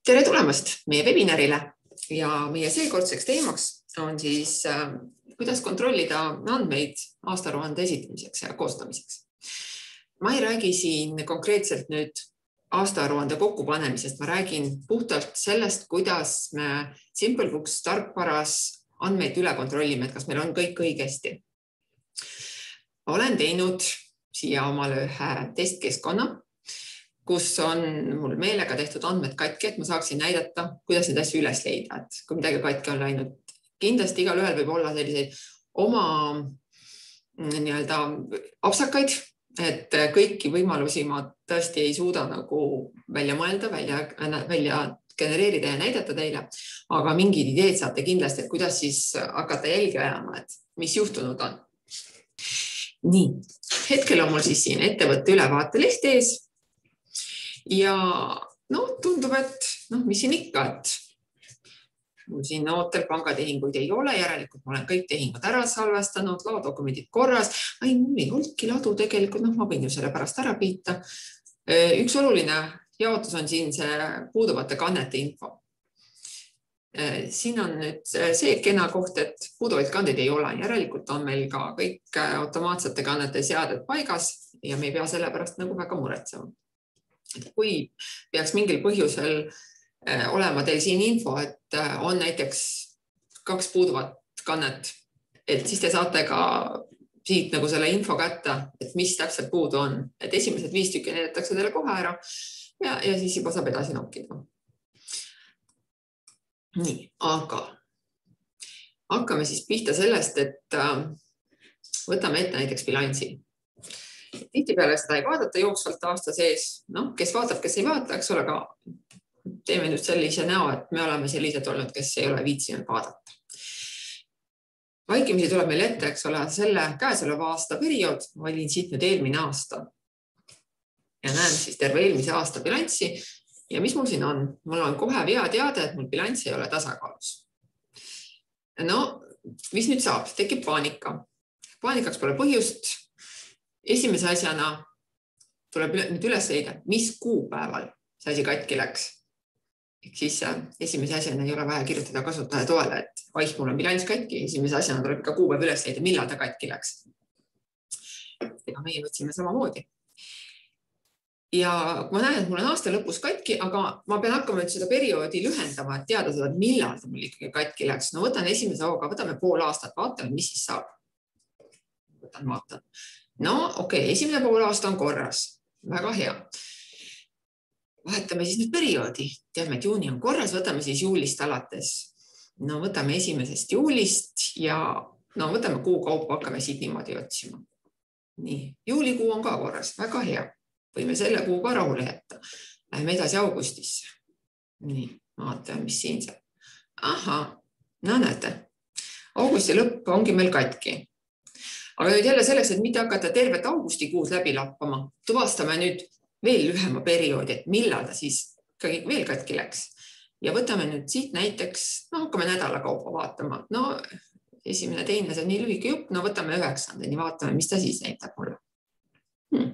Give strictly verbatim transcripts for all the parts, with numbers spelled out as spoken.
Tere tulemast meie webinarile ja meie seekordseks teemaks on siis, kuidas kontrollida andmeid aastaaruande esitamiseks ja koostamiseks. Ma ei räägi siin konkreetselt nüüd aastaaruande kokkupanemisest, ma räägin puhtalt sellest, kuidas me SimpleBooks tarkvaras andmeid üle kontrollime, et kas meil on kõik õigesti. Olen teinud siia omale ühe testkeskkonna, kus on mul meelega tehtud andmed katki, et ma saaksin näidata, kuidas neid asju üles leida, et kui midagi katki on läinud. Kindlasti igal ühel võib olla selliseid oma nii-öelda apsakaid, et kõiki võimalusi ma tõesti ei suuda nagu välja mõelda, välja, välja genereerida ja näidata teile, aga mingid ideed saate kindlasti, et kuidas siis hakata jälgi ajama, et mis juhtunud on. Nii, hetkel on mul siis siin ettevõtte ülevaate leht ees. Ja no, tundub, et no, mis siin ikka, et mul siin ootel pangatehinguid ei ole, järelikult ma olen kõik tehingud ära salvestanud, laodokumendid korras. Ai, mul ei olnudki ladu tegelikult, no ma võin ju selle pärast ära piita. Üks oluline jaotus on siin see puuduvate kannete info. Siin on nüüd see kena koht, et puuduvaid kandeid ei ole. Järelikult on meil ka kõik automaatsete kannete seaded paigas ja me ei pea selle pärast nagu väga muretsema. Kui peaks mingil põhjusel olema teil siin info, et on näiteks kaks puuduvat kannet, et siis te saate ka siit nagu selle info kätte, et mis täpselt puudu on. Et esimesed viis tükki näidatakse teile kohe ära ja, ja siis juba saab edasi nokkida. Nii, aga hakkame siis pihta sellest, et võtame ette näiteks bilansi. Tihtipeale seda ei vaadata jooksvalt aasta sees, no, kes vaatab, kes ei vaata, eks ole, aga teeme nüüd sellise näo, et me oleme sellised olnud, kes ei ole viitsinud vaadata. Vaikimisi tuleb meil ette, eks ole, selle käesoleva aasta periood, valin siit nüüd eelmine aasta ja näen siis terve eelmise aasta bilanssi ja mis mul siin on? Mul on kohe vea teada, et mul bilanss ei ole tasakaalus. No, mis nüüd saab? Tekib paanika. Paanikaks pole põhjust. Esimese asjana tuleb nüüd üles leida, mis kuupäeval see asi katki läks. Ehk siis esimese asjana ei ole vaja kirjutada kasutaja toele, et vaih, mul on bilanss katki, esimese asjana tuleb ka kuupäev üles leida, millal ta katki läks. Ega meie võtsime samamoodi. Ja ma näen, et mul on aasta lõpus katki, aga ma pean hakkama nüüd seda perioodi lühendama, et teada seda, millal ta mul ikkagi katki läks. No võtan esimese hooga, võtame pool aastat, vaatame, mis siis saab. Võtan, vaatan. No okei, okay, esimene pool aasta on korras. Väga hea. Vahetame siis nüüd perioodi. Teame, et juuni on korras, võtame siis juulist alates. No võtame esimesest juulist ja no võtame kuu kaupa, hakkame siit niimoodi otsima. Nii, juulikuu on ka korras. Väga hea. Võime selle kuu ka rahule jätta. Läheme edasi augustisse. Nii, vaatame, mis siin saab. Aha, no näete. Augusti lõpp ongi meil katki. Aga nüüd jälle selleks, et mitte hakata tervet augustikuud läbi lappama, tuvastame nüüd veel lühema perioodi, et millal ta siis veel katki läks. Ja võtame nüüd siit näiteks, no hakkame nädala kaupa vaatama. No esimene, teine, see on nii lühike jupp, no võtame üheksandani, vaatame, mis ta siis näitab mulle. Hmm.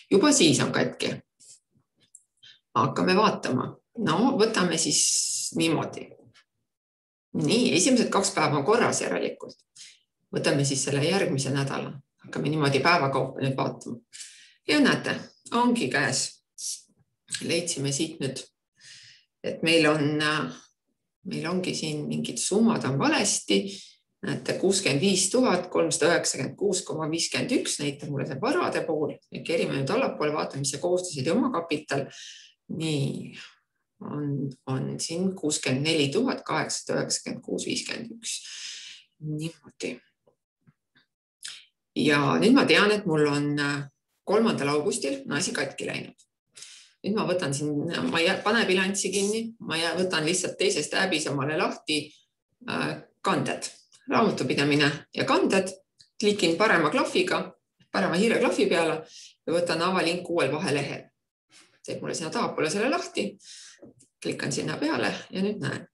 Juba siis on katki. Hakkame vaatama. No võtame siis niimoodi. Nii, esimesed kaks päeva on korras järelikult. Võtame siis selle järgmise nädala. Hakkame niimoodi päevakaupa nüüd vaatama. Ja näete, ongi käes. Leidsime siit nüüd, et meil on, meil ongi siin mingid summad on valesti. Näete, kuuskümmend viis tuhat kolmsada üheksakümmend kuus koma viiskümmend üks näitab mulle see varade pool. Kerime nüüd allapoole, vaatame, mis see koostised ja omakapital. Nii, on, on siin kuuskümmend neli tuhat kaheksasada üheksakümmend kuus koma viiskümmend üks. Niimoodi. Ja nüüd ma tean, et mul on kolmandal augustil asi katki läinud. Nüüd ma võtan siin, ma pane bilanssi kinni, ma võtan lihtsalt teisest äbis omale lahti kanded, raamatupidamine ja kanded, klikin parema klahviga, parema hiire klahvi peale ja võtan avalink uuel vahelehel. Teeb mulle sinna tahapoole selle lahti, klikkan sinna peale ja nüüd näen.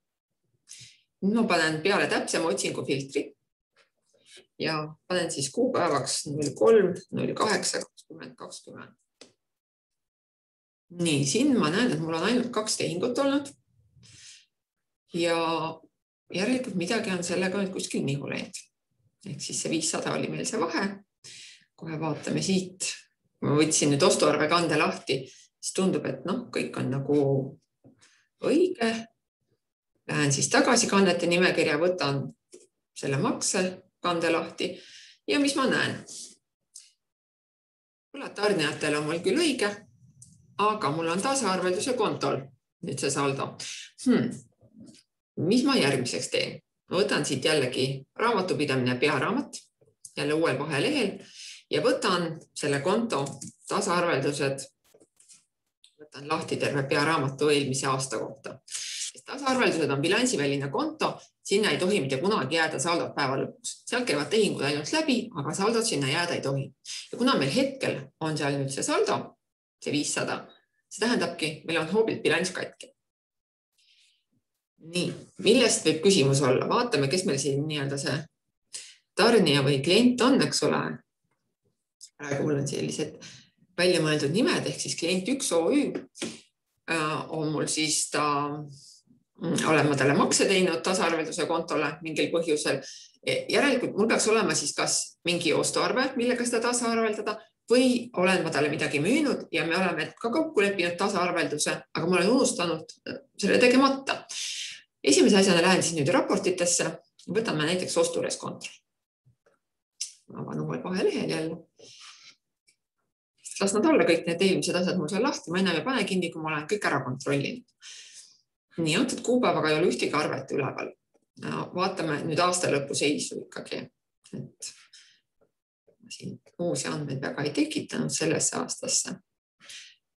Nüüd ma panen peale täpsema otsingu filtri. Ja panen siis kuupäevaks null kolm null kaheksa kakskümmend kakskümmend. Nii, siin ma näen, et mul on ainult kaks tehingut olnud. ja järelikult midagi on sellega nüüd kuskil nihu läinud. Ehk siis see viissada oli meil see vahe. Kohe vaatame siit. Ma võtsin nüüd ostuarve kande lahti, siis tundub, et noh, kõik on nagu õige. Lähen siis tagasi kannete nimekirja, võtan selle makse kande lahti ja mis ma näen? Tarnijatel on mul küll õige, aga mul on tasaarvelduse kontol nüüd see saldo. Hmm. Mis ma järgmiseks teen? Ma võtan siit jällegi raamatupidamine pearaamat, jälle uuel vahelehel ja võtan selle konto tasaarveldused, võtan lahti terve pearaamatu eelmise aasta kohta. Tasaarveldused on bilansiväline konto, sinna ei tohi mitte kunagi jääda saldot päeva lõpuks. Seal käivad tehingud ainult läbi, aga saldot sinna jääda ei tohi. Ja kuna meil hetkel on seal nüüd see saldo, see viissada, see tähendabki, meil on hoobilt bilanss katki. Nii, millest võib küsimus olla? Vaatame, kes meil siin nii-öelda see tarnija või klient on, eks ole. Praegu mul on sellised välja mõeldud nimed, ehk siis klient üks O Ü on mul siis ta... olen ma talle makse teinud tasaarvelduse kontole mingil põhjusel. Järelikult mul peaks olema siis kas mingi ostuarve, millega seda tasaarveldada või olen ma talle midagi müünud ja me oleme ka kokku leppinud tasaarvelduse, aga ma olen unustanud selle tegemata. Esimese asjana lähen siis nüüd raportitesse, võtame näiteks ostureis kontrol. Ma avan uuel vahelehel jälle. Las nad olla kõik need eelmised asjad mul seal lahti, ma enam ei pane kinni, kui ma olen kõik ära kontrollinud. Nii, antud kuupäevaga ei ole ühtegi arvet üleval. Vaatame nüüd aasta lõpu seisu ikkagi. Et siin uusi andmeid väga ei tekitanud sellesse aastasse.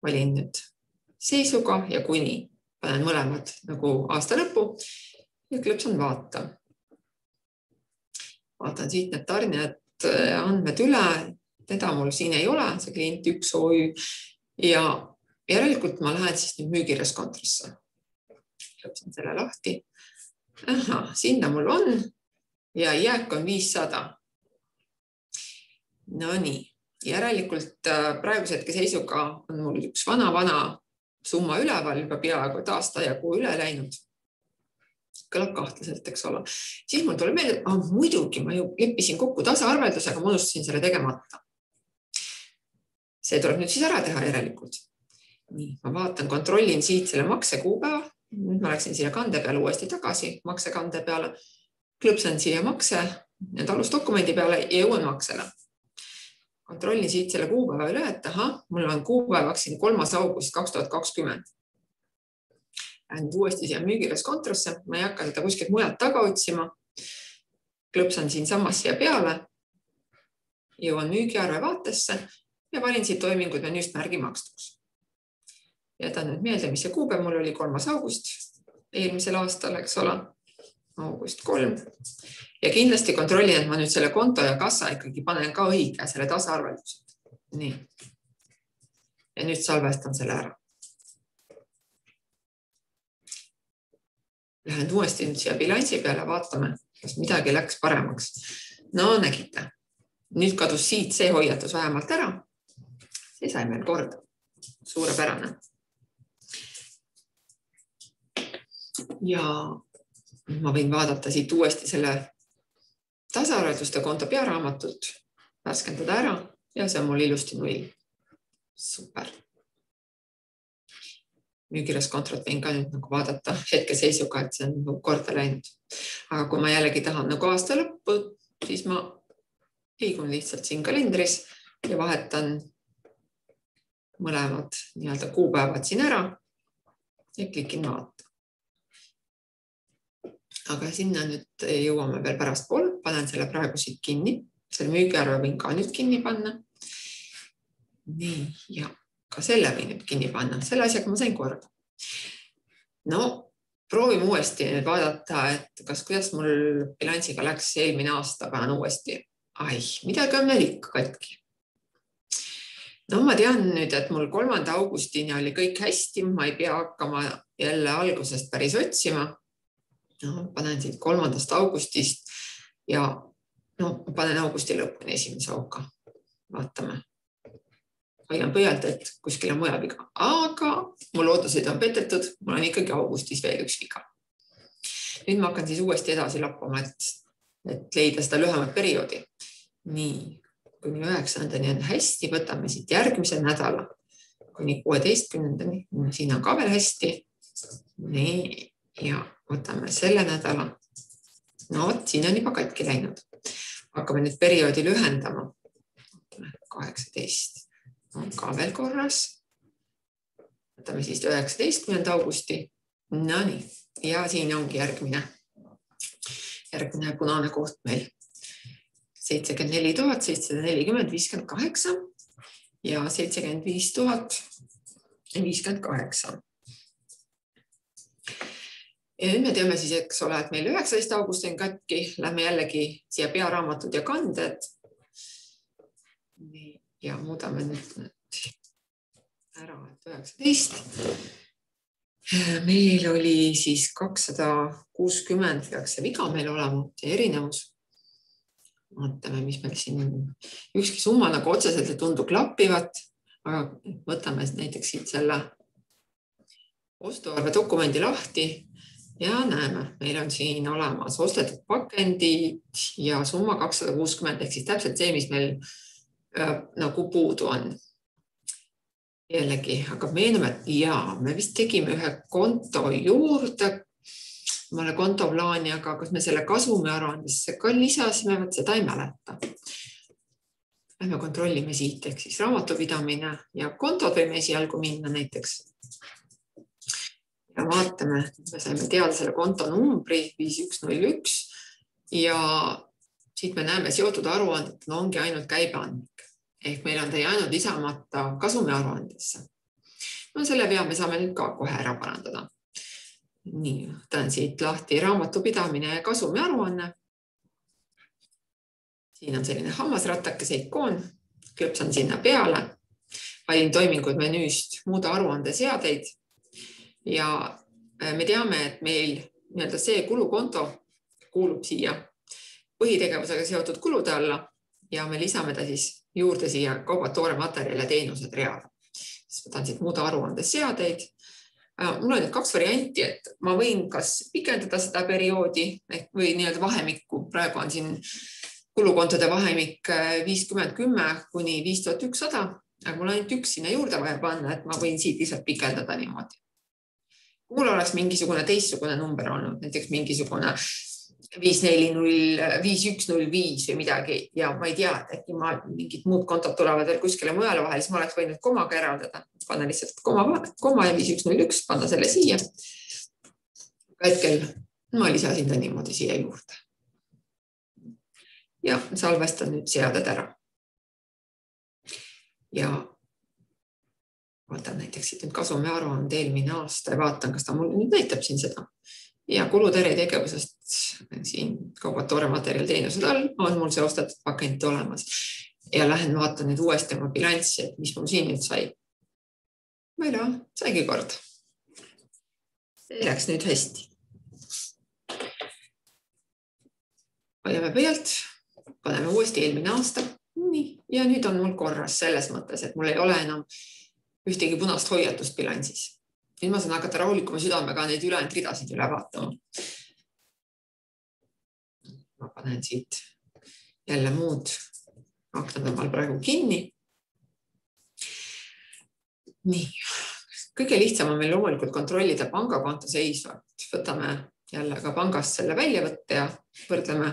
Valin nüüd seisuga ja kuni panen mõlemad nagu aasta lõpu ja klõpsan vaata. Vaatan siit need tarnijad andmed üle. Teda mul siin ei ole, see klient üks O Ü ja järelikult ma lähen siis nüüd müügireskontrisse. Lõpsan selle lahti. Aha, sinna mul on ja jääk on viissada. No nii, järelikult praeguse hetke seisuga on mul üks vana-vana summa üleval, juba peaaegu aasta ja kuu üle läinud. Kõlab kahtlaselt, eks ole. Siis mul tuleb meelde, ah, muidugi ma ju leppisin kokku tasaarveldusega, ma unustasin selle tegemata. See tuleb nüüd siis ära teha järelikult. Nii, ma vaatan, kontrollin siit selle makse kuupäeva. Nüüd ma läksin siia kande peale uuesti tagasi, makse kande peale, klõpsan siia makse, need alusdokumendi peale ja jõuan maksele. Kontrollin siit selle kuupäeva üle, et aha, mul on kuupäevaks siin kolmas august kaks tuhat kakskümmend. Lähen uuesti siia müügireskontrosse, ma ei hakka seda kuskilt mujalt taga otsima. Klõpsan siin samas siia peale, jõuan müügiarve vaatesse ja valin siit toimingud menüüst märgi makstuks. Jätan nüüd meelde, mis see kuupäev mul oli kolmas august eelmisel aastal, eks ole, august kolm. Ja kindlasti kontrollin, et ma nüüd selle konto ja kassa ikkagi panen ka õige selle tasaarveldused. Nii. Ja nüüd salvestan selle ära. Lähen uuesti nüüd siia bilansi peale, vaatame, kas midagi läks paremaks. No nägite. Nüüd kadus siit see hoiatus vähemalt ära. See sai meil korda. Suurepärane. Ja ma võin vaadata siit uuesti selle tasaarvelduste konto pearaamatut, värskendada ära ja see on mul ilusti null. Super. Müügireskontrot võin ka nüüd nagu vaadata hetke seisuga, et see on korda läinud. Aga kui ma jällegi tahan nagu aasta lõppu, siis ma liigun lihtsalt siin kalendris ja vahetan mõlemad nii-öelda kuupäevad siin ära ja klikin vaata. Aga sinna nüüd jõuame veel pärast pool, panen selle praegu siit kinni, selle müügiarve võin ka nüüd kinni panna. Nii, ja ka selle võin nüüd kinni panna, selle asjaga ma sain korda. No, proovime uuesti nüüd vaadata, et kas kuidas mul bilansiga läks eelmine aasta, panen uuesti. Ai, midagi on veel ikka katki. No ma tean nüüd, et mul kolmanda augustini oli kõik hästi, ma ei pea hakkama jälle algusest päris otsima. No, panen siit kolmandast augustist ja no, panen augusti lõpuni esimese auka. Vaatame. Hoian pöialt, et kuskil on mujal viga. Aga mul ootused on petetud, mul on ikkagi augustis veel üks viga. Nüüd ma hakkan siis uuesti edasi lappama, et, et leida seda lühemat perioodi. Nii, kuni üheksandani on hästi, võtame siit järgmise nädala kuni kuueteistkümnendani. Siin on ka veel hästi. Nii, ja võtame selle nädala. No, siin on juba katki läinud. Hakkame nüüd perioodi lühendama. kaheksateist on ka veel korras. Võtame siis üheksateistkümnenda augusti. No nii, ja siin ongi järgmine, järgmine punane koht meil. seitsekümmend neli tuhat seitsesada nelikümmend viiskümmend kaheksa ja seitsekümmend viis tuhat viiskümmend kaheksa. Ja nüüd me teame siis, eks ole, et meil üheksateist augusti on katki. Lähme jällegi siia pearaamatud ja kanded. Ja muudame nüüd ära, et üheksateist. Meil oli siis kakssada kuuskümmend, peaks see viga meil olema, see erinevus. Vaatame, mis meil siin on. Ükski summa nagu otseselt ei tundu klappivat, aga võtame näiteks siit selle ostuarve dokumendi lahti ja näeme, meil on siin olemas ostetud pakendid ja summa kakssada kuuskümmend, ehk siis täpselt see, mis meil nagu puudu on. Jällegi hakkab meenuma, et jaa, me vist tegime ühe konto juurde, mõne kontoplaani, aga kas me selle kasumi aruandesse ka lisasime, võt seda ei mäleta. Lähme kontrollime siit, ehk siis raamatupidamine ja kontod võime esialgu minna näiteks. Ja vaatame, me saime teada selle konto numbri viis üks null üks ja siit me näeme seotud aruanded, no ongi ainult käibeandmik. Ehk meil on ta jäänud lisamata kasumi aruandesse. No selle vea me saame nüüd ka kohe ära parandada. Nii, võtan siit lahti raamatupidamine ja kasumi aruanne. Siin on selline hammasratakese ikoon, klõpsan sinna peale, valin toimingud menüüst muuda aruande seadeid ja me teame, et meil nii-öelda see kulukonto kuulub siia põhitegevusega seotud kulude alla ja me lisame ta siis juurde siia kaubad, toore materjal ja teenused reale. Siis võtan siit muuda aruande seadeid. Mul on nüüd kaks varianti, et ma võin kas pikendada seda perioodi või nii-öelda vahemikku. Praegu on siin kulukontode vahemik viiskümmend kümme kuni viis tuhat ükssada, aga mul on ainult üks sinna juurde vaja panna, et ma võin siit lihtsalt pikendada niimoodi. Kui mul oleks mingisugune teistsugune number olnud, näiteks mingisugune viis neli null viis üks null viis või midagi ja ma ei tea, et äkki ma mingid muud kontod tulevad veel kuskile mujale vahel, siis ma oleks võinud komaga eraldada. Panna lihtsalt koma, koma ja viis üks null üks, panna selle siia. Hetkel ma lisasin ta niimoodi siia juurde. Ja salvestan nüüd seaded ära. Ja vaatan näiteks siit nüüd kasumi aruande eelmine aasta ja vaatan, kas ta mul nüüd näitab siin seda. Ja kuluteri tegevusest siin kaubad, toore materjal, teenused all on mul see ostetud pakend olemas. Ja lähen vaatan nüüd uuesti oma bilanssi, et mis mul siin nüüd sai. Või no, saigi kord. See läks nüüd hästi. Hoiame pealt, paneme uuesti eelmine aasta. Nii. Ja nüüd on mul korras selles mõttes, et mul ei ole enam ühtegi punast hoiatust bilansis. Nüüd ma saan hakata rahulikuma südamega neid ülejäänud ridasid üle vaatama. Ma panen siit jälle muud aknad omal praegu kinni. Nii, kõige lihtsam on meil loomulikult kontrollida pangakonto seisu. Võtame jälle ka pangast selle väljavõtte ja võrdleme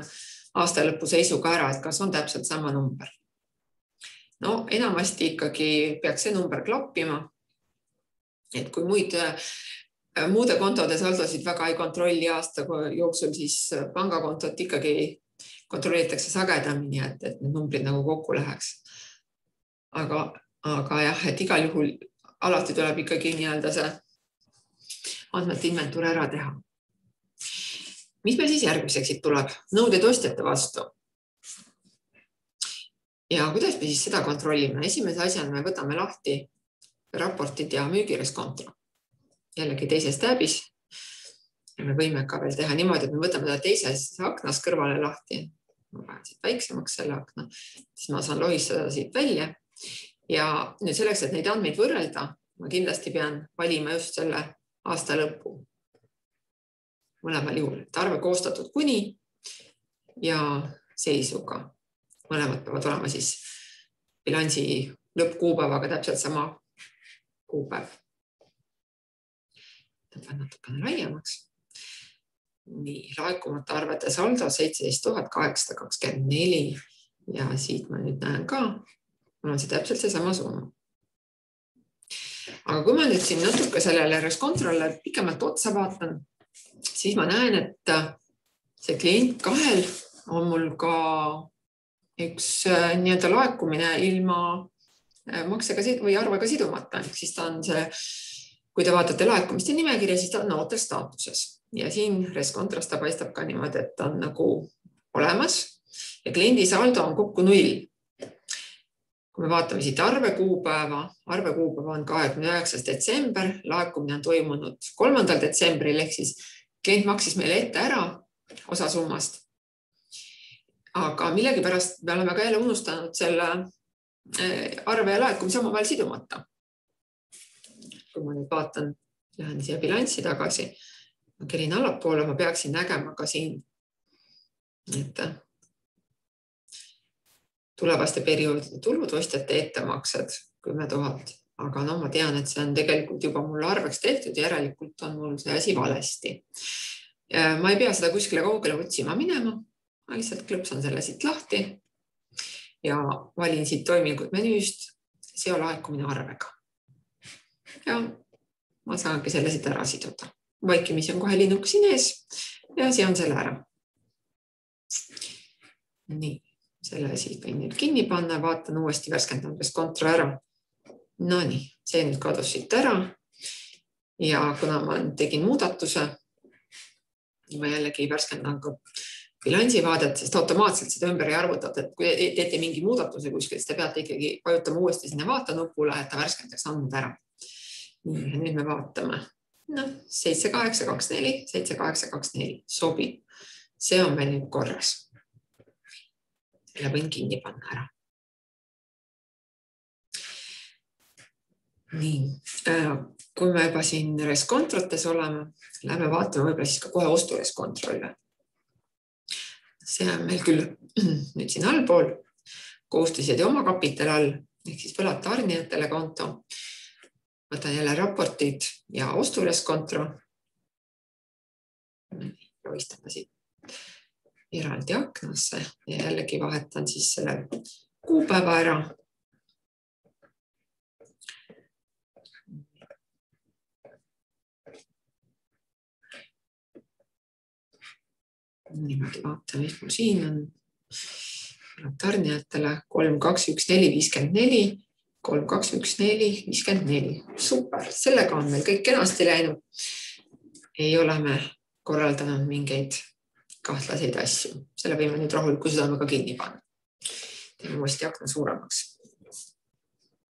aasta lõpu seisuga ära, et kas on täpselt sama number. No enamasti ikkagi peaks see number klappima. Et kui muid, muude kontode saldosid väga ei kontrolli aasta jooksul, siis pangakontot ikkagi kontrollitakse sagedamini, et, et need numbrid nagu kokku läheks. Aga, aga jah, et igal juhul alati tuleb ikkagi nii-öelda see andmete inventuur ära teha. Mis meil siis järgmiseks siit tuleb? Nõuded ostjate vastu. Ja kuidas me siis seda kontrollime? Esimese asjana me võtame lahti raportid ja müügireskonto. Jällegi teises tabis. Ja me võime ka veel teha niimoodi, et me võtame ta teises aknas kõrvale lahti. Ma panen siit väiksemaks selle akna. Siis ma saan lohistada siit välja. Ja nüüd selleks, et neid andmeid võrrelda, ma kindlasti pean valima just selle aasta lõpu. mõlemal juhul, et arve koostatud kuni ja seisuga. Mõlemad peavad olema siis bilansi lõppkuupäevaga täpselt sama kuupäev. Tõmban natukene laiemaks. Nii, laekumata arvete saldo seitseteist tuhat kaheksasada kakskümmend neli ja siit ma nüüd näen ka, mul on see täpselt see sama summa. Aga kui ma nüüd siin natuke sellele reskontrolle pikemalt otsa vaatan, siis ma näen, et see klient kahel on mul ka üks nii-öelda laekumine ilma maksega või arvega sidumata. Siis ta on see, kui te vaatate laekumiste nimekirja, siis ta on ootel staatuses. Ja siin reskontrost ta paistab ka niimoodi, et ta on nagu olemas ja kliendi saldo on kokku null. Kui me vaatame siit arve kuupäeva, arve kuupäeva on kahekümne üheksas detsember, laekumine on toimunud kolmandal detsembril, ehk siis klient maksis meile ette ära osa summast. Aga millegipärast me oleme ka jälle unustanud selle arve ja laekumise omavahel sidumata. Kui ma nüüd vaatan, lähen siia bilanssi tagasi, ma kerin allapoole, ma peaksin nägema ka siin, et tulevaste perioodide tulud, ostjate ettemaksed kümme tuhat, aga no ma tean, et see on tegelikult juba mul arveks tehtud ja järelikult on mul see asi valesti. Ma ei pea seda kuskile kaugele otsima minema, ma lihtsalt klõpsan selle siit lahti ja valin siit toimingud menüüst, seo laekumine arvega. Ja ma saangi selle siit ära siduda. Vaikimisi on kohe linnuk siin ees ja see on selle ära. Nii, selle siit võin nüüd kinni panna, vaatan uuesti värskendamisest kontro ära. No nii, see nüüd kadus siit ära ja kuna ma tegin muudatuse, ma jällegi värskendan ka bilansivaadet, sest automaatselt seda ümber ei arvutada, et kui teete mingi muudatuse kuskil, siis te peate ikkagi vajutama uuesti sinna vaata nupule, et ta värskendaks andmed ära. Nii, nüüd me vaatame. No, seitse kaheksa kaks neli, seitse kaheksa kaks neli sobib. See on meil nüüd korras. Selle võin kinni panna ära. Nii, kui me juba siin reskontrotes oleme, lähme vaatame võib-olla siis ka kohe ostureskontrolle. See on meil küll nüüd siin allpool kohustused ja omakapital all, ehk siis võlad tarnijatele konto. Võtan jälle raportid ja osturesskontro. Joistame siit eraldi aknasse ja jällegi vahetan siis selle kuupäeva ära. Niimoodi vaatame, mis mul siin on. Tarnijatele kolm kaks üks neli viiskümmend neli. kolm kaks üks neli viiskümmend neli. Super, sellega on meil kõik kenasti läinud. Ei ole me korraldanud mingeid kahtlaseid asju. Selle võime nüüd rahuliku südamega kinni panna. Teeme uuesti akna suuremaks.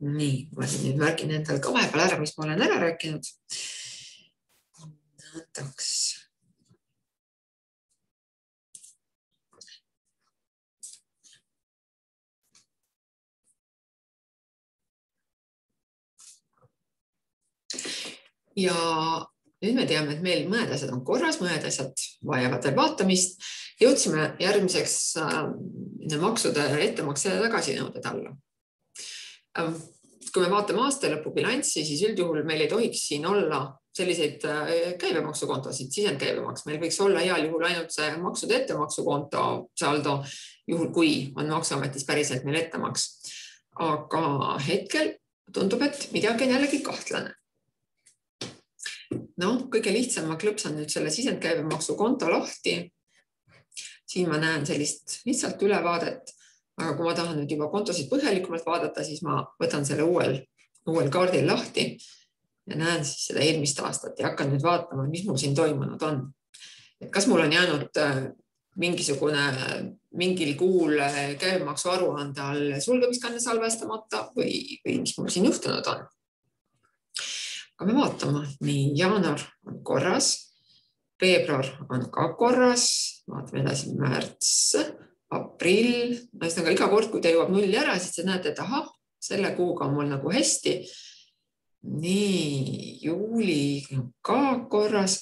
Nii, ma nüüd märgin endal ka vahepeal ära, mis ma olen ära rääkinud. Näitaks. Ja nüüd me teame, et meil mõned asjad on korras, mõned asjad vajavad veel vaatamist. Jõudsime järgmiseks maksude ettemakse tagasinõuded alla. Kui me vaatame aastalõpu bilanssi, siis üldjuhul meil ei tohiks siin olla selliseid käibemaksukontosid, sisendkäibemaks. Meil võiks olla heal juhul ainult see maksude ettemaksukonto saldo, juhul kui on maksuametis päriselt meil ettemaks. Aga hetkel tundub, et midagi on jällegi kahtlane. No, kõige lihtsam ma klõpsan nüüd selle sisendkäibemaksu konto lahti. Siin ma näen sellist lihtsalt ülevaadet, aga kui ma tahan nüüd juba kontosid põhjalikumalt vaadata, siis ma võtan selle uuel, uuel kaardil lahti ja näen siis seda eelmist aastat ja hakkan nüüd vaatama, mis mul siin toimunud on. Et kas mul on jäänud mingisugune mingil kuul käibemaksu aruande all sulgemiskanne salvestamata või, või mis mul siin juhtunud on. Aga me vaatame, nii jaanuar on korras, veebruar on ka korras, vaatame edasi märts, aprill, no siis iga kord, kui te jõuab nulli ära, siis te näete, et aha, selle kuuga on mul nagu hästi. Nii, juuli on ka korras,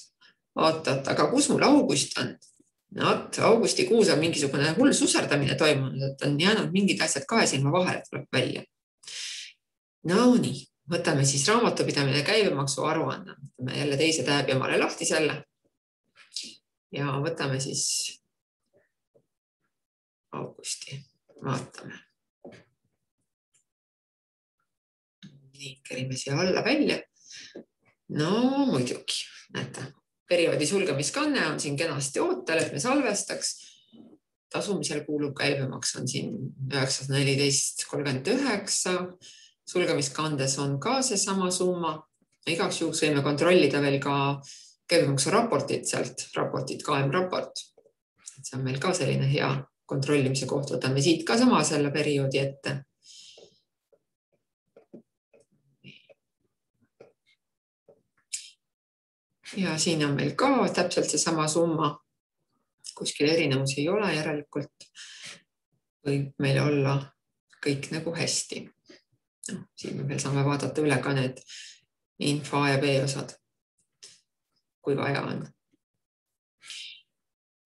oot-oot, aga kus mul august on? No, augustikuus on mingisugune hull suserdamine toimunud, et on jäänud mingid asjad kahe silma vahele, tuleb välja. No nii, võtame siis raamatupidamine käibemaksu aruanne. Võtame jälle teise tääbi omale lahti selle. Ja võtame siis augusti. Vaatame. Nii, kerime siia alla välja. No muidugi, näete. Perioodi sulgemiskanne on siin kenasti ootel, et me salvestaks. Tasumisel kuulub käibemaks on siin üheksasada neliteist kolmkümmend üheksa. Sulgemiskandes on ka see sama summa. Igaks juhuks võime kontrollida veel ka käibemaksu raportit sealt. Raportit K M raport. See on meil ka selline hea kontrollimise koht. Võtame siit ka sama selle perioodi ette. Ja siin on meil ka täpselt see sama summa. Kuskil erinevus ei ole järelikult. Võib meil olla kõik nagu hästi. No, siin me veel saame vaadata üle ka need info A ja B osad, kui vaja on.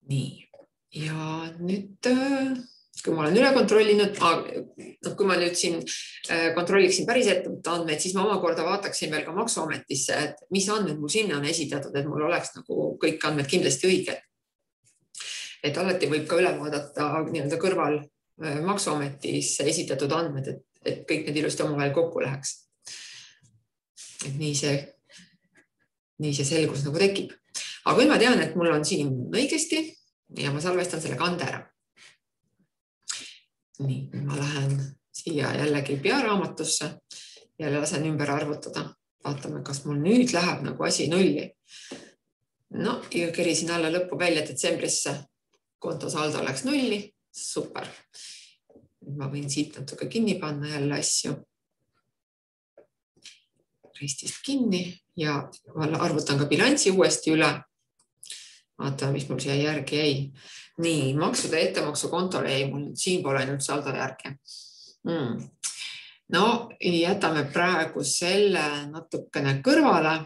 Nii. Ja nüüd, kui ma olen üle kontrollinud, kui ma nüüd siin kontrolliksin päris ettevõtte andmeid, siis ma omakorda vaataksin veel ka maksuametisse, et mis andmed mul sinna on esitatud, et mul oleks nagu kõik andmed kindlasti õiged. Et alati võib ka üle vaadata nii-öelda kõrval maksuametis esitatud andmed, et, et kõik need ilusti omavahel kokku läheks. Et nii see, nii see selgus nagu tekib. Aga kui ma tean, et mul on siin õigesti ja ma salvestan selle kande ära. Nii, ma lähen siia jällegi pearaamatusse ja lasen ümber arvutada. Vaatame, kas mul nüüd läheb nagu asi nulli. No, ja kerisin alla lõppu välja detsembrisse. Kontosaldo läks nulli. Super. Ma võin siit natuke kinni panna jälle asju. Ristist kinni ja arvutan ka bilansi uuesti üle. Vaatame, mis mul siia järgi jäi. Nii, maksude ettemaksu kontole jäi mul siin pole nüüd saldo järgi. Hmm. No, jätame praegu selle natukene kõrvale.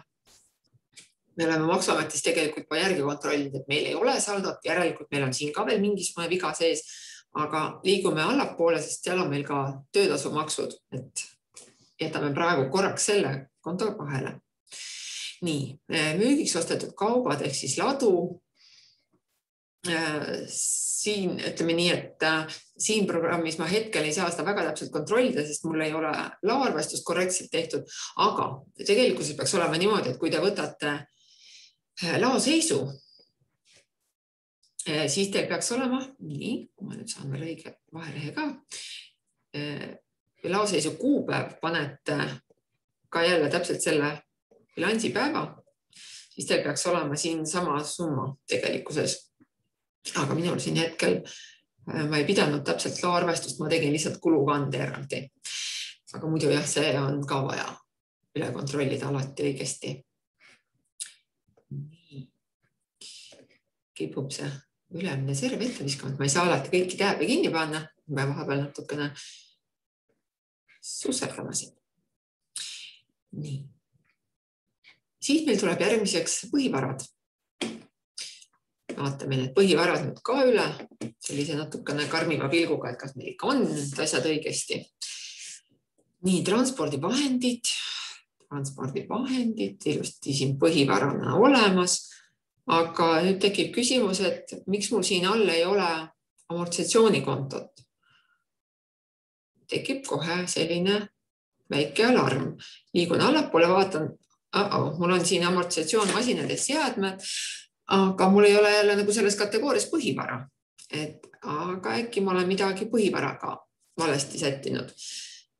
Me oleme maksuametis tegelikult juba järgi kontrollinud, et meil ei ole saldot, järelikult meil on siin ka veel mingisugune viga sees, aga liigume allapoole, sest seal on meil ka töötasumaksud, et jätame praegu korraks selle konto vahele. Nii, müügiks ostetud kaubad ehk siis ladu. Siin ütleme nii, et siin programmis ma hetkel ei saa seda väga täpselt kontrollida, sest mul ei ole laoarvestust korrektselt tehtud, aga tegelikult peaks olema niimoodi, et kui te võtate laoseisu, siis teil peaks olema, nii, ma nüüd saan veel õige vahelehe ka, laoseisu kuupäev panete ka jälle täpselt selle bilansipäeva, siis teil peaks olema siin sama summa tegelikkuses. Aga minul siin hetkel ma ei pidanud täpselt laoarvestust, ma tegin lihtsalt kulukande eraldi. Aga muidu jah, see on ka vaja üle kontrollida alati õigesti. Nii. Kipub see ülemine serv ette viskama, et ma ei saa alati kõiki tääbe kinni panna. Ma vahepeal natukene susserdama siin. Nii. Siis meil tuleb järgmiseks põhivarad. Vaatame need põhivarad nüüd ka üle, sellise natukene karmiva pilguga, et kas meil ikka on need asjad õigesti. Nii, transpordivahendid, transpordivahendid, ilusti siin põhivarana olemas, aga nüüd tekib küsimus, et miks mul siin all ei ole amortisatsioonikontot. Tekib kohe selline väike alarm. Liigun allapoole, vaatan, oh, mul on siin amortisatsioon masinades seadmed, aga mul ei ole jälle nagu selles kategoorias põhivara. Et, aga äkki ma olen midagi põhivaraga valesti sättinud.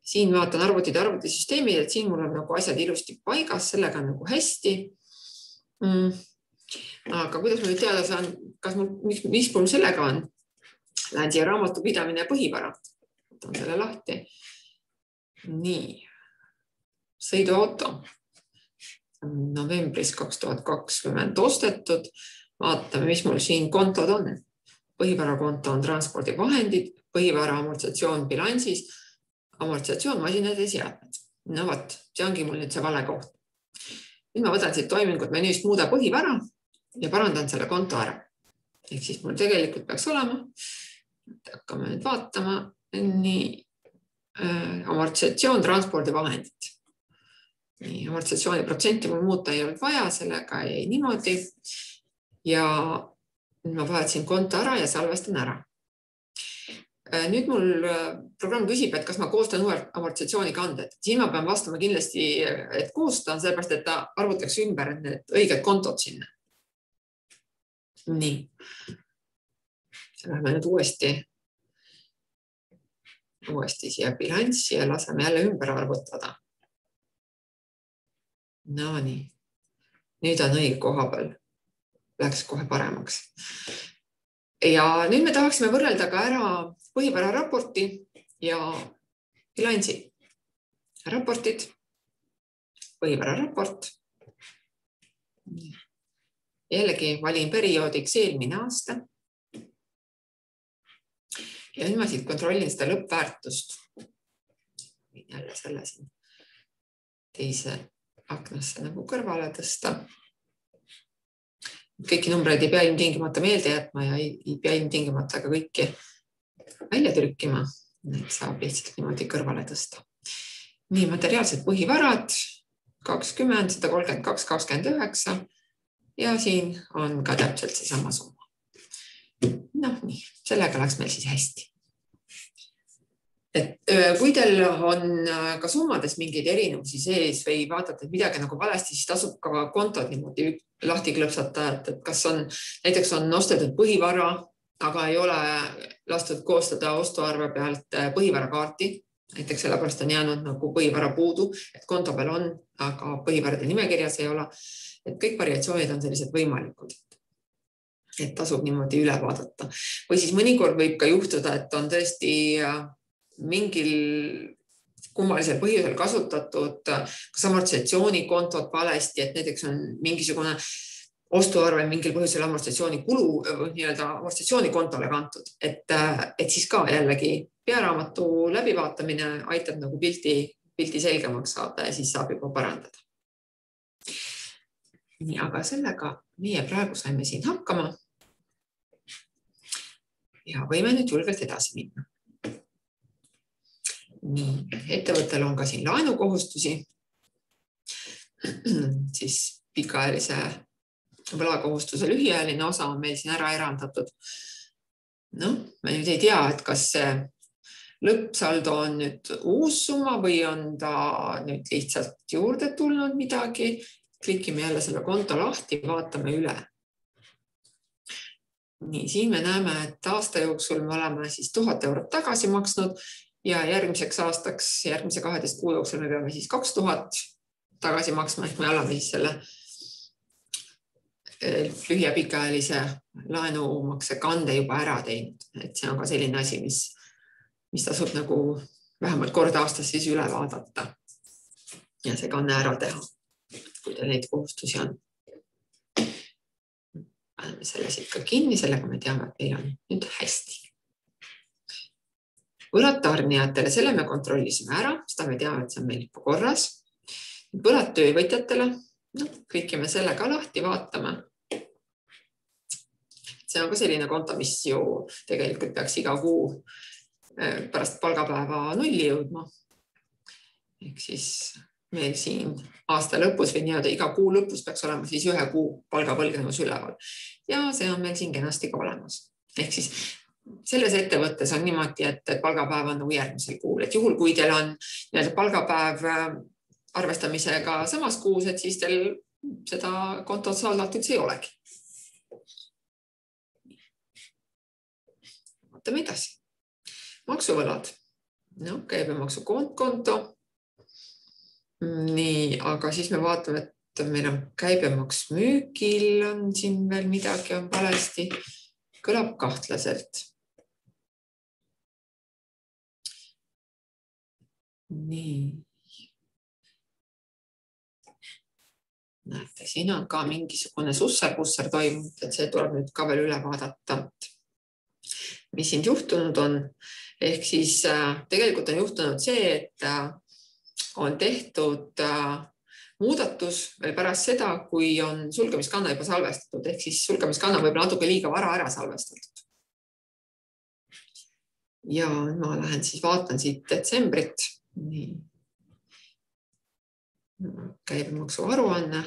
Siin vaatan arvutid arvutisüsteemid, et siin mul on nagu asjad ilusti paigas, sellega on nagu hästi. Mm. Aga kuidas ma nüüd teada saan, kas mul, mis, mis mul sellega on? Lähen siia raamatupidamine ja põhivara. Võtan selle lahti. Nii. Sõiduauto. Novembris kaks tuhat kakskümmend ostetud. Vaatame, mis mul siin kontod on. Põhivarakonto on transpordivahendid, põhivara amortisatsioon bilansis, amortisatsioon masinad ja seadmed. No võt, see ongi mul nüüd see vale koht. Nüüd ma võtan siit toimingut menüüst muuda põhivara ja parandan selle konto ära. Ehk siis mul tegelikult peaks olema, hakkame nüüd vaatama, nii äh, amortisatsioon, transpordivahendid. Nii, amortisatsiooni protsenti mul muuta ei olnud vaja, sellega jäi niimoodi. Ja ma vahetasin konto ära ja salvestan ära. Nüüd mul programm küsib, et kas ma koostan uue amortisatsiooni kanded. Siin ma pean vastama kindlasti, et koostan, sellepärast, et ta arvutaks ümber need õiged kontod sinna. Nii. Läheme nüüd uuesti, uuesti siia bilanssi ja laseme jälle ümber arvutada. No nii. Nüüd on õige koha peal. Läks kohe paremaks. Ja nüüd me tahaksime võrrelda ka ära põhivara raporti ja bilansi. Raportid, põhivara raport. Jällegi valin perioodiks eelmine aasta. Ja nüüd ma siit kontrollin seda lõppväärtust. Jälle selle siin teise aknasse nagu kõrvale tõsta. Kõiki numbreid ei pea ilmtingimata meelde jätma ja ei, ei pea ilmtingimata ka kõiki välja trükkima. Need saab lihtsalt niimoodi kõrvale tõsta. Nii, materiaalsed põhivarad kakskümmend, sada kolmkümmend kaks, kakskümmend üheksa ja siin on ka täpselt see sama summa. Noh, nii, sellega läks meil siis hästi. Et kui teil on ka summades mingeid erinevusi sees või vaatate, et midagi nagu valesti, siis tasub ka kontod niimoodi lahti klõpsata, et kas on, näiteks on ostetud põhivara, aga ei ole lastud koostada ostuarve pealt põhivarakaarti. Näiteks sellepärast on jäänud nagu põhivara puudu, et konto peal on, aga põhivarade nimekirjas ei ole. Et kõik variatsioonid on sellised võimalikud. Et tasub niimoodi üle vaadata. Või siis mõnikord võib ka juhtuda, et on tõesti mingil kummalisel põhjusel kasutatud kas amortisatsioonikontod valesti, et näiteks on mingisugune ostuarve mingil põhjusel amortisatsiooni kulu nii-öelda amortisatsioonikontole kantud, et, et siis ka jällegi pearaamatu läbivaatamine aitab nagu pilti, pilti selgemaks saada ja siis saab juba parandada. Nii, aga sellega meie praegu saime siin hakkama ja võime nüüd julgelt edasi minna. Nii, ettevõttel on ka siin laenukohustusi, siis pikaajalise võlakohustuse lühiajaline osa on meil siin ära erandatud. No, me nüüd ei tea, et kas see lõppsaldo on nüüd uus summa või on ta nüüd lihtsalt juurde tulnud midagi. Klikime jälle selle konto lahti, vaatame üle. Nii, siin me näeme, et aasta jooksul me oleme siis tuhat eurot tagasi maksnud ja järgmiseks aastaks, järgmise kaheteist kuu jooksul me peame siis kaks tuhat tagasi maksma, ehk me oleme siis selle lühia pikaajalise laenumakse kande juba ära teinud. Et see on ka selline asi, mis, mis tasub nagu vähemalt kord aastas siis üle vaadata ja see kanne ära teha, kui teil neid kohustusi on. Paneme selle siit ka kinni, sellega me teame, et meil on nüüd hästi. Võlad tarnijatele, selle me kontrollisime ära, seda me teame, et see on meil juba korras. Võlad töövõtjatele, no, klikime selle ka lahti, vaatame. See on ka selline konto, mis ju tegelikult peaks iga kuu pärast palgapäeva nulli jõudma. Ehk siis meil siin aasta lõpus või nii-öelda iga kuu lõpus peaks olema siis ühe kuu palgapõlgnevus üleval. Ja see on meil siin kenasti ka olemas. Ehk siis selles ettevõttes on niimoodi, et palgapäev on nagu järgmisel kuul. Et juhul, kui teil on palgapäev arvestamisega samas kuus, et siis teil seda kontot saldalt üldse ei olegi. Vaatame edasi. Maksuvõlad. No, käibemaksu konto. Nii, aga siis me vaatame, et meil on käibemaks müügil, on siin veel midagi on valesti. Kõlab kahtlaselt. Nii. Näete, siin on ka mingisugune susser-pusser toimunud, et see tuleb nüüd ka veel üle vaadata. Mis siin juhtunud on? Ehk siis tegelikult on juhtunud see, et on tehtud muudatus veel pärast seda, kui on sulgemiskanne juba salvestatud, ehk siis sulgemiskanne võib natuke liiga vara ära salvestatud. Ja ma lähen siis vaatan siit detsembrit. Nii. Käibemaksu aruanne.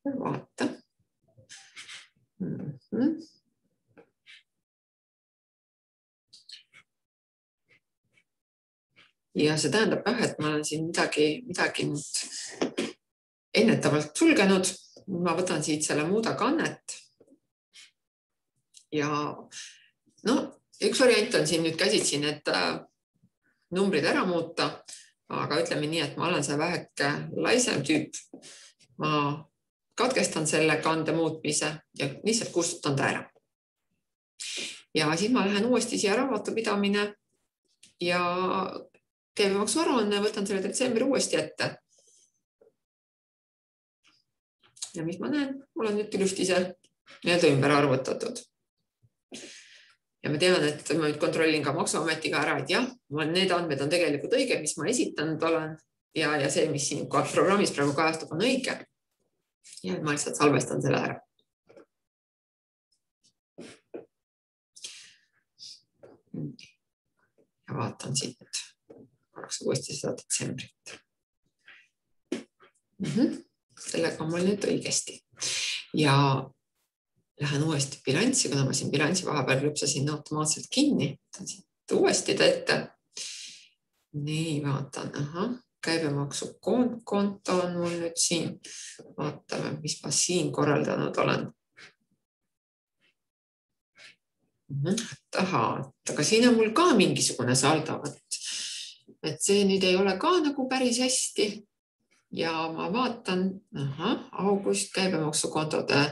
Vaata. Mm-hmm. Ja see tähendab jah, et ma olen siin midagi, midagi nüüd ennetavalt sulgenud. Ma võtan siit selle muuda kannet. Ja no, üks variant on siin nüüd käsitsin, et numbrid ära muuta, aga ütleme nii, et ma olen see väheke laisem tüüp. Ma katkestan selle kande muutmise ja lihtsalt kustutan ta ära. Ja siis ma lähen uuesti siia raamatupidamine ja käibemaksu aruanne, võtan selle detsembri uuesti ette. Ja mis ma näen? Mul on nüüd ilusti see nii-öelda ümber arvutatud. Ja ma tean, et ma nüüd kontrollin ka maksuametiga ära, et jah, need andmed on tegelikult õige, mis ma esitanud olen ja, ja see, mis siin programmis praegu kajastub, on õige. Ja ma lihtsalt salvestan selle ära. Ja vaatan siit korraks uuesti seda detsembrit. Mm-hmm. Sellega on mul nüüd õigesti. Ja lähen uuesti bilanssi, kuna ma siin bilanssi vahepeal lüpsasin automaatselt kinni. Võtan siit uuesti ta ette. Nii, vaatan. Aha. Käibemaksu konto on mul nüüd siin. Vaatame, mis ma siin korraldanud olen. Taha, aga siin on mul ka mingisugune saldo. Et see nüüd ei ole ka nagu päris hästi. Ja ma vaatan, aha, august käibemaksukontode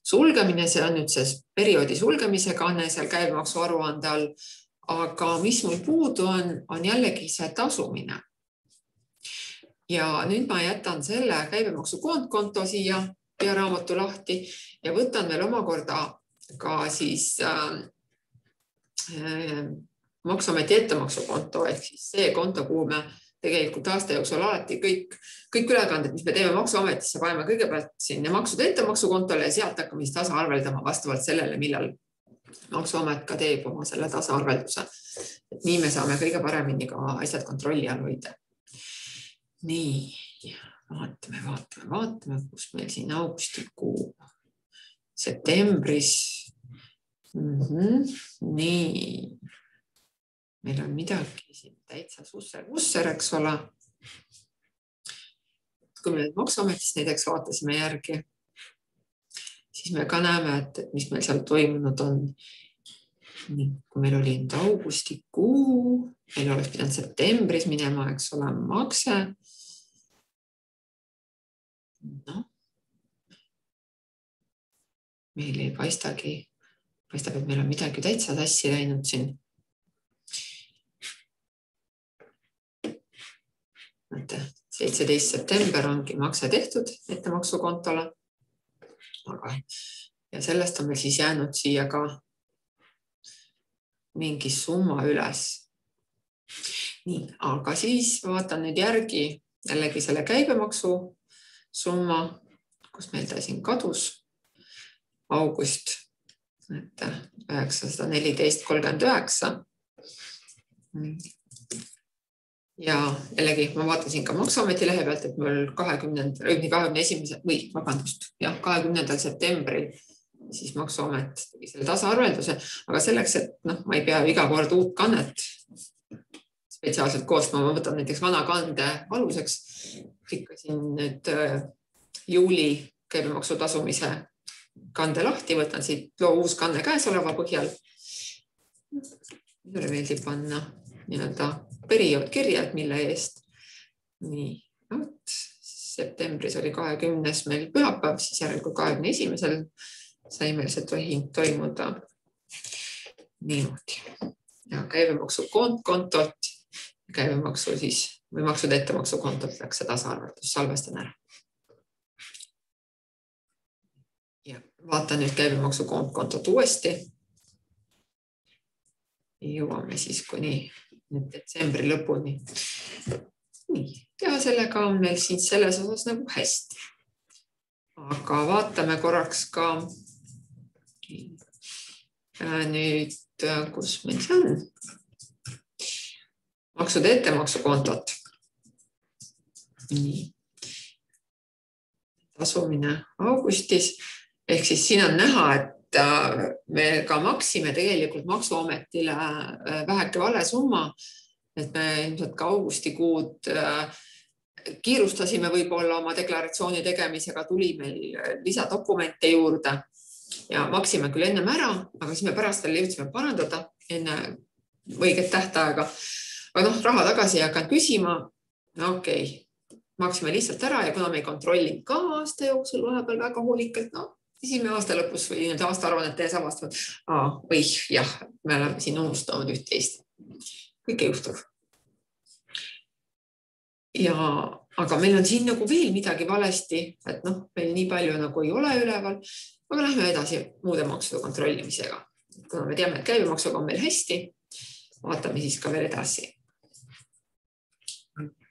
sulgemine, see on nüüd see perioodi sulgemise kanne seal käibemaksu aruande all. Aga mis mul puudu on, on jällegi see tasumine. Ja nüüd ma jätan selle käibemaksu konto siia pearaamatu lahti ja võtan veel omakorda ka siis äh, äh, maksuameti ettemaksukonto, ehk siis see konto, kuhu me tegelikult aasta jooksul alati kõik, kõik ülekanded, mis me teeme maksuametisse, paneme kõigepealt sinna maksude ettemaksukontole ja sealt hakkame siis tasa arveldama vastavalt sellele, millal maksuamet ka teeb oma selle tasa arvelduse. Et nii me saame kõige paremini ka asjad kontrolli all hoida. Nii, vaatame, vaatame, vaatame, kus meil siin augustikuu, septembris. Mm-hmm. Nii, meil on midagi siin täitsa susser-vusser, eks ole. Kui me maksuametist näiteks vaatasime järgi, siis me ka näeme, et mis meil seal toimunud on. Nii, kui meil oli nüüd augustikuu, meil oleks pidanud septembris minema, eks ole, makse. No. Meil ei paistagi, paistab, et meil on midagi täitsa tassi läinud siin. seitseteist september ongi makse tehtud ettemaksukontole. Aga, ja sellest on meil siis jäänud siia ka mingi summa üles. Nii, aga siis vaatan nüüd järgi jällegi selle käibemaksu summa, kus meil ta siin kadus. August üheksasada neliteist kolmkümmend üheksa. Ja jällegi ma vaatasin ka maksuameti lehe pealt, et mul kahekümnendal, kahekümne esimesel või vabandust, jah, kahekümnendal septembril siis maksuamet tegi selle tasaarvelduse, aga selleks, et noh, ma ei pea iga kord uut kannet spetsiaalselt koostama, ma võtan näiteks vana kande aluseks, klikkasin nüüd juuli käibemaksu tasumise kande lahti, võtan siit loo uus kanne käesoleva põhjal. Mulle meeldib panna nii-öelda periood kirja, et mille eest. Nii, võt, septembris oli kahekümnes meil pühapäev, siis järelikult kahekümne esimesel sai meil see tohing toimuda niimoodi. Ja käibemaksu kontolt, käibemaksu siis, või maksude ettemaksu kontolt läks see tasaarveldus, salvestan ära. Ja vaatan nüüd käibemaksu kontot uuesti. Jõuame siis kuni nüüd detsembri lõpuni. Nii, ja sellega on meil siin selles osas nagu hästi. Aga vaatame korraks ka nüüd, kus meil see on. Maksude ettemaksukontot. Nii. Tasumine augustis. Ehk siis siin on näha, et me ka maksime tegelikult Maksuametile väheke vale summa, et me ilmselt ka augustikuud kiirustasime võib-olla oma deklaratsiooni tegemisega, tuli meil lisadokumente juurde ja maksime küll ennem ära, aga siis me pärast veel jõudsime parandada enne õiget tähtaega. Aga noh, raha tagasi ei hakanud küsima. No okei, okay. Maksime lihtsalt ära ja kuna me ei kontrollinud ka aasta jooksul vahepeal väga hoolikalt, no siis me aasta lõpus või aasta aruannet tees avastavad, aa, või jah, me oleme siin unustanud üht teist. Kõike juhtub. Ja, aga meil on siin nagu veel midagi valesti, et noh, meil nii palju nagu ei ole üleval, aga lähme edasi muude maksude kontrollimisega. Kuna me teame, et käibemaksuga on meil hästi, vaatame siis ka veel edasi.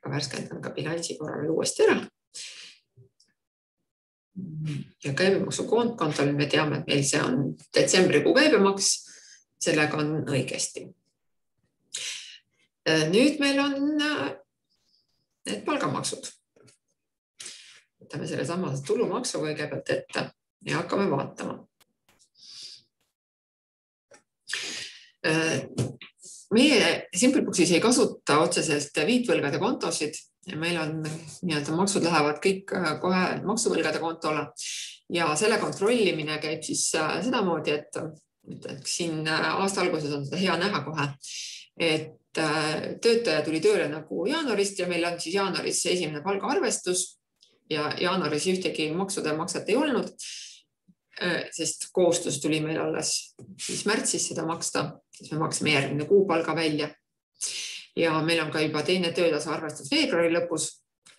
Ka värskendan ka bilansi korra veel uuesti ära. Ja käibemaksu kontol me teame, et meil see on detsembrikuu käibemaks, sellega on õigesti. Nüüd meil on need palgamaksud. Võtame selle sama tulumaksu kõigepealt ette ja hakkame vaatama. Meie Simpleboxis ei kasuta otseselt viitvõlgade kontosid ja meil on nii-öelda maksud lähevad kõik kohe maksuvõlgade kontole ja selle kontrollimine käib siis sedamoodi, et siin aasta alguses on seda hea näha kohe, et töötaja tuli tööle nagu jaanuarist ja meil on siis jaanuaris esimene palgaarvestus ja jaanuaris ühtegi maksude makset ei olnud, sest kohustus tuli meil alles siis märtsis seda maksta, siis me maksime järgmine kuu palga välja. Ja meil on ka juba teine töötasu arvestus veebruari lõpus,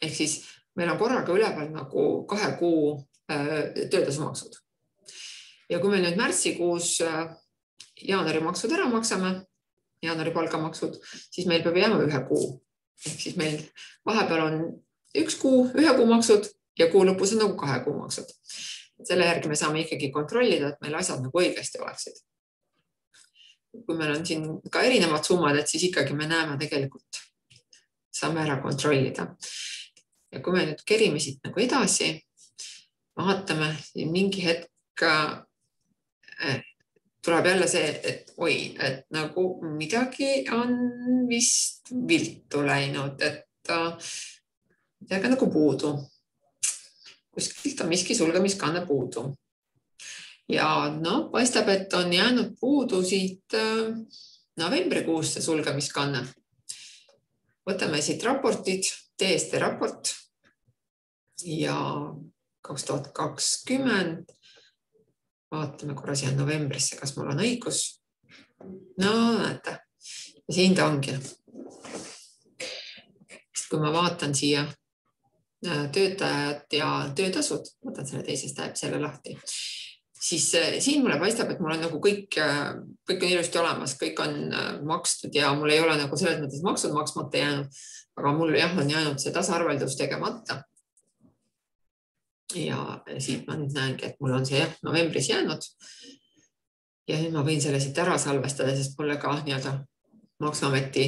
ehk siis meil on korraga üleval nagu kahe kuu töötasu maksud. Ja kui me nüüd märtsikuus jaanuari maksud ära maksame, jaanuari palgamaksud, siis meil peab jääma ühe kuu. Ehk siis meil vahepeal on üks kuu, ühe kuu maksud ja kuu lõpus on nagu kahe kuu maksud. Selle järgi me saame ikkagi kontrollida, et meil asjad nagu õigesti oleksid. Kui meil on siin ka erinevad summad, et siis ikkagi me näeme tegelikult, saame ära kontrollida. Ja kui me nüüd kerime siit nagu edasi, vaatame mingi hetk tuleb jälle see, et oi, et nagu midagi on vist viltu läinud, et midagi nagu puudu. Kuskilt on miski sulgemiskanne puudu. Ja no, paistab, et on jäänud puudu siit novembrikuus see sulgemiskanne. Võtame siit raportid, T S T raport ja kaks tuhat kakskümmend. Vaatame korra siia novembrisse, kas mul on õigus. No, näete. Ja siin ta ongi. Kui ma vaatan siia töötajad ja töötasud, võtan selle teisest läheb selle lahti, siis siin mulle paistab, et mul on nagu kõik, kõik on ilusti olemas, kõik on makstud ja mul ei ole nagu selles mõttes maksud maksmata jäänud, aga mul jah on jäänud see tasarveldus tegemata. Ja siit ma nüüd näengi, et mul on see jah, novembris jäänud ja nüüd ma võin selle siit ära salvestada, sest mulle ka nii-öelda Maksuameti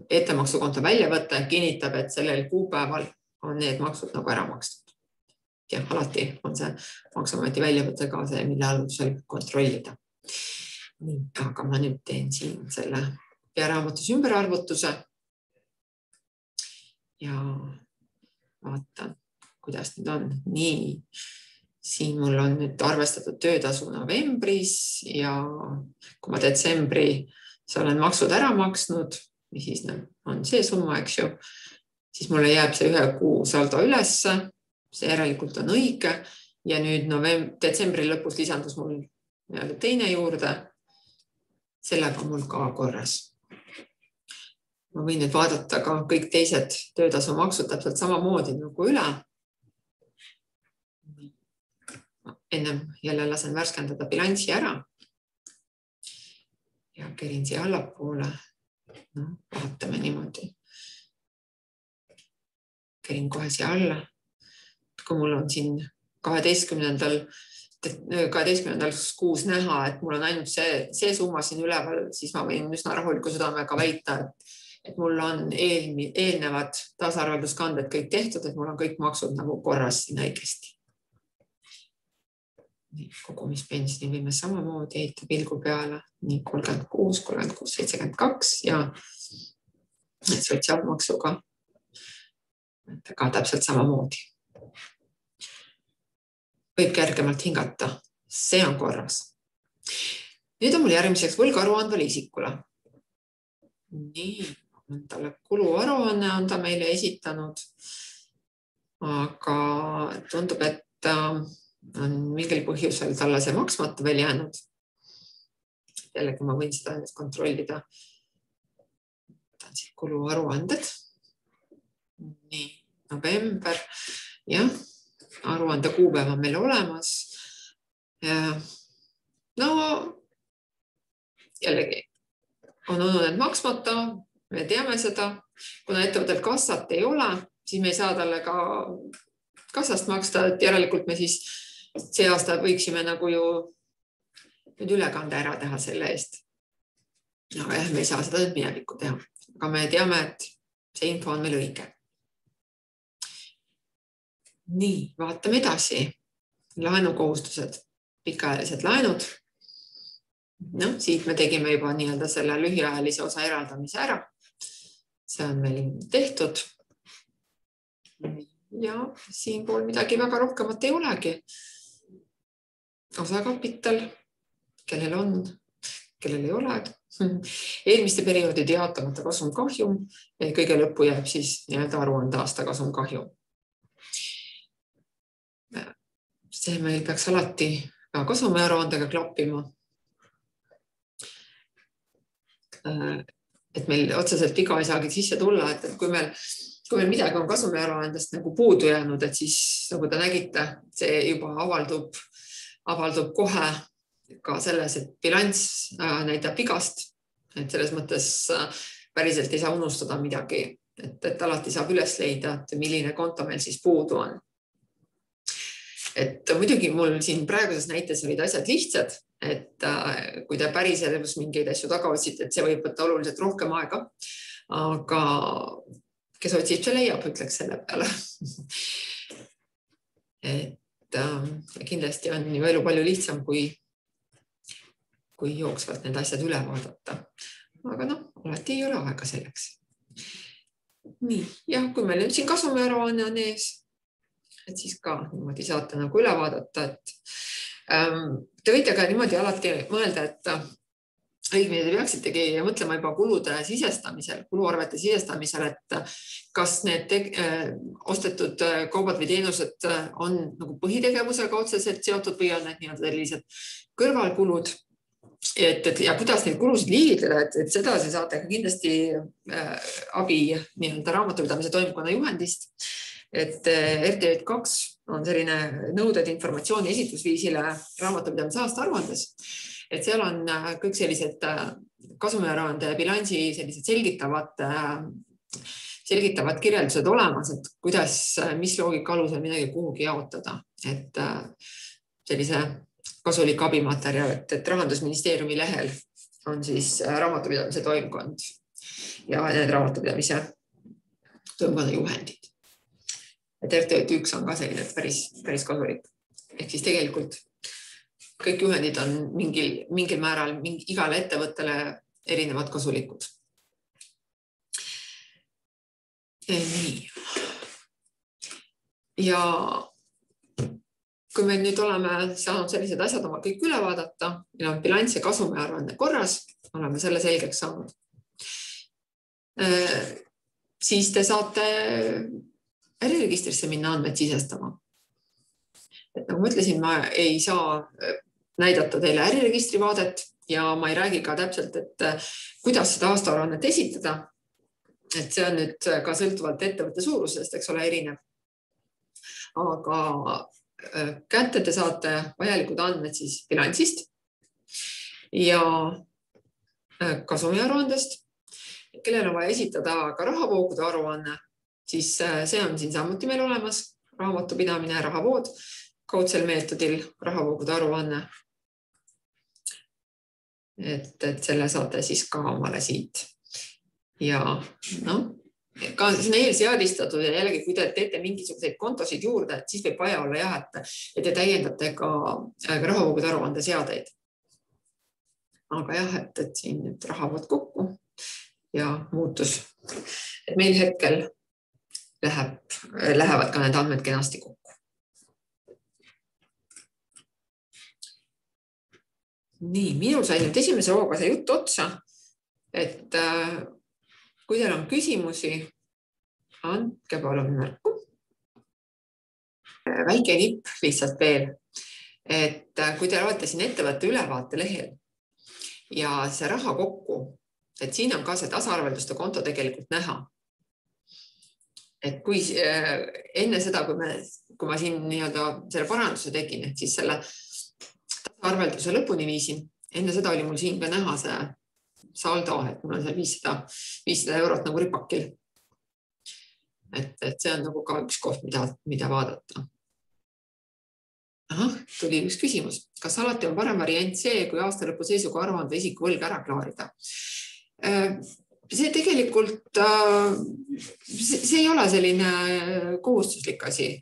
ettemaksukonto välja võtta ja kinnitab, et sellel kuupäeval on need maksud nagu ära makstud. Ja alati on see Maksuameti väljavõte ka see, mille alusel kontrollida. Nii, aga ma nüüd teen siin selle pearaamatus ümberarvutuse ja vaatan, kuidas nüüd on. Nii, siin mul on nüüd arvestatud töötasu novembris ja kui ma detsembri see olen maksud ära maksnud, mis siis on see summa, eks ju, siis mulle jääb see ühe kuu saldo ülesse, see järelikult on õige ja nüüd novemb- detsembri lõpus lisandus mul teine juurde, sellega on mul ka korras. Ma võin nüüd vaadata ka kõik teised töötasu maksud täpselt samamoodi nagu üle. Ennem jälle lasen värskendada bilanssi ära ja kerin siia allapoole. no, vaatame niimoodi. Käin kohe siia alla. Kui mul on siin kaheteistkümnendal kaheteistkümnendal kuus näha, et mul on ainult see, see summa siin üleval, siis ma võin üsna rahuliku südamega väita, et, et mul on eel, eelnevad taasarvelduskanded kõik tehtud, et mul on kõik maksud nagu korras siin õigesti. Kogumispensioni võime samamoodi heita pilgu peale, nii kolmkümmend kuus, kolmkümmend kuus, seitsekümmend kaks ja sotsiaalmaksuga ka täpselt samamoodi. Võib kergemalt hingata. See on korras. Nüüd on mul järgmiseks võlgaruandvale isikule. Nii, talle kuluaruanne on ta meile esitanud, aga tundub, et on mingil põhjusel talle see maksmata veel jäänud. Jällegi ma võin seda kontrollida. Ta on siin kuluaruanded. Nii, november. Jah. Aruande kuupäev on meil olemas. No, jällegi on olnud need maksmata, me teame seda. Kuna ettevõttel kassat ei ole, siis me ei saa talle ka kassast maksta, et järelikult me siis see aasta võiksime nagu ju nüüd ülekande ära teha selle eest. Aga jah, me ei saa seda nüüd minevikku teha. Aga me teame, et see info on meil õige. Nii, vaatame edasi. Laenukohustused, pikaajalised laenud. No, siit me tegime juba nii-öelda selle lühiajalise osa eraldamise ära. See on meil tehtud. Ja siin pool midagi väga rohkemat ei olegi. Osakapital, kellel on, kellel ei ole. Eelmiste perioodide jaotamata kasum kahjum. Kõige lõppu jääb siis nii-öelda aruande aasta kasum kahjum. See meil peaks alati ka kasumiaruandega klappima. Et meil otseselt viga ei saagi sisse tulla, et kui meil, kui meil midagi on kasumiaruandest nagu puudu jäänud, et siis nagu te nägite, see juba avaldub, avaldub kohe ka selles, et bilanss näitab vigast, et selles mõttes päriselt ei saa unustada midagi, et, et alati saab üles leida, et milline konto meil siis puudu on. Et muidugi mul siin praeguses näites olid asjad lihtsad, et kui te päris elus mingeid asju taga otsite, et see võib võtta oluliselt rohkem aega, aga kes otsib, see leiab, ütleks selle peale. Et kindlasti on ju elu palju lihtsam, kui, kui jooksvalt need asjad üle vaadata. Aga noh, alati ei ole aega selleks. Nii, jah, kui meil nüüd siin kasumiaruanne on ees, et siis ka niimoodi saate nagu üle vaadata, et ähm, te võite ka niimoodi alati mõelda, et õigmine te peaksitegi mõtlema juba kulude sisestamisel, kuluarvete sisestamisel, et kas need äh, ostetud kaubad või teenused on nagu põhitegevusega otseselt seotud või on need nii-öelda sellised kõrvalkulud, et, et ja kuidas neid kulusid liigitleda, et, et seda se saate ka kindlasti äh, abi nii-öelda raamatupidamise toimkonna juhendist. Et R T J kaks on selline nõuded informatsiooni esitusviisile raamatupidamise aasta aruandes. Et seal on kõik sellised kasumiaruande ja bilansi sellised selgitavad, selgitavad kirjeldused olemas, et kuidas, mis loogika alusel midagi kuhugi jaotada. Et sellise kasulik abimaterjal, et, et Rahandusministeeriumi lehel on siis raamatupidamise toimkond ja need raamatupidamise toimkonna juhendid. Et R T J üks on ka selline päris, päris kasulik. Ehk siis tegelikult kõik juhendid on mingil, mingil määral mingi, igale ettevõttele erinevad kasulikud. Nii. Ja kui me nüüd oleme saanud sellised asjad oma kõik üle vaadata, meil on bilanss ja kasumiaruanne korras, oleme selle selgeks saanud, siis te saate äriregistrisse minna andmed sisestama. Et nagu ma ütlesin, ma ei saa näidata teile äriregistri vaadet ja ma ei räägi ka täpselt, et kuidas seda aastaaruannet esitada. Et see on nüüd ka sõltuvalt ettevõtte suurusest, eks ole, erinev. Aga kätte te saate vajalikud andmed siis bilansist ja kasumiaruandest kellel on vaja esitada ka rahavoogude aruanne, siis see on siin samuti meil olemas. Raamatupidamine, rahavood, kaudsel meetodil rahavoogude aruanne. Et, et selle saate siis ka omale siit. Ja noh, ka see on eelseadistatud ja jällegi, kui te teete mingisuguseid kontosid juurde, siis võib vaja olla jah, et, et te täiendate ka rahavoogude aruande seadeid. Aga jah, et, et siin nüüd rahavood kokku ja muutus. Et meil hetkel läheb, lähevad ka need andmed kenasti kokku. Nii, minul sai nüüd esimese hooga see jutt otsa, et äh, kui teil on küsimusi, andke palun märku. Väike nipp lihtsalt veel, et kui te olete siin ettevõtte ülevaate lehel ja see raha kokku, et siin on ka see tasaarvelduste konto tegelikult näha. Et kui äh, enne seda, kui, me, kui ma siin nii-öelda selle paranduse tegin, et siis selle tasaarvelduse lõpuni viisin, enne seda oli mul siin ka näha see saldo, et mul on seal viissada eurot nagu ripakil. Et, et see on nagu ka üks koht, mida, mida vaadata. Aha, tuli üks küsimus. Kas alati on parem variant see, kui aasta lõpu seisuga aruande isiku võlg ära klaarida? See tegelikult see ei ole selline kohustuslik asi.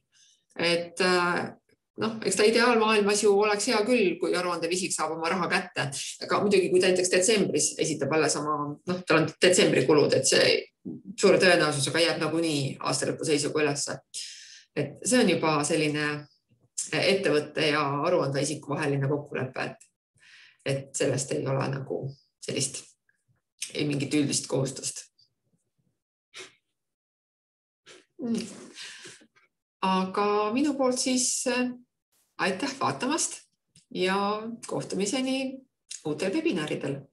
Et noh, eks ta ideaalmaailmas ju oleks hea küll, kui aruandev isik saab oma raha kätte. Aga muidugi, kui ta näiteks detsembris esitab alles oma, noh, tal on detsembri kulud, et see suure tõenäosusega jääb nagu nii aasta lõpu seisuga ülesse. Et see on juba selline ettevõtte ja aruande isiku vaheline kokkulepe, et, et sellest ei ole nagu sellist ei mingit üldist kohustust. Aga minu poolt siis aitäh vaatamast ja kohtumiseni uutel webinaridel.